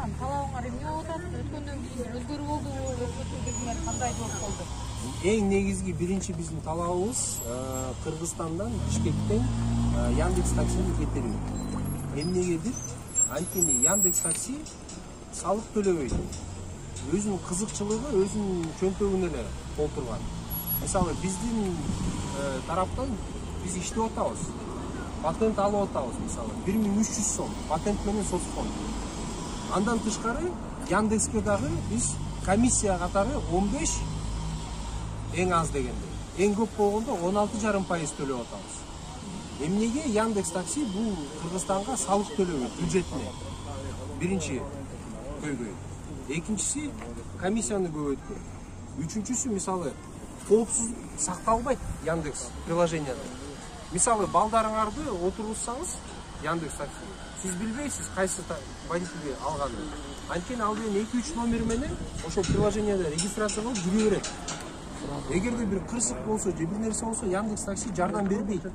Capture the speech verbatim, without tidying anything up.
анан талабыңар эмне болуп атат? Өткөндөн кийин өзгөрүү болдубу? Өзгөртүүлөр кандай болуп болду? Эң негизги биринчи биздин талабыбыз Кыргызстандан, Бишкектен Яндекс таксини кетирүү. Эмнегедир? Анткени Яндекс такси салык төлөбөйт. Өзүнүн кызыкчылыгы өзүнүн чөнтөгүнө эле толтурган. Мисалы биздин тараптан биз иштеп атабыз. Патент алып атабыз, мисалы бир миң үч жүз сом патент менен соцфонд. Андан тышкары Яндекске дагы биз комиссия катары он беш, эң аз дегенде, эң көп болгондо он алты жарым пайыз төлөп атабыз. Эмнеге Яндекс такси бул Кыргызстанга салык төлөбөйт бюджетине? Биринчи көйгөй. Экинчиси комиссияны көбөйткөн. Үчүнчүсү мисалы коопсуздук сакталбайт Яндекс приложенияда. Мисалы балдарыңарды отургузсаңыз Яндекс такси, сиз билбейсиз кайсы водитель алганын. Анткени ал деген эки үч номер менен ошол приложенияда регистрация кылып жүрө берет. Эгерде бир кырсык болсо же бир нерсе болсо Яндекс такси жардам бербейт.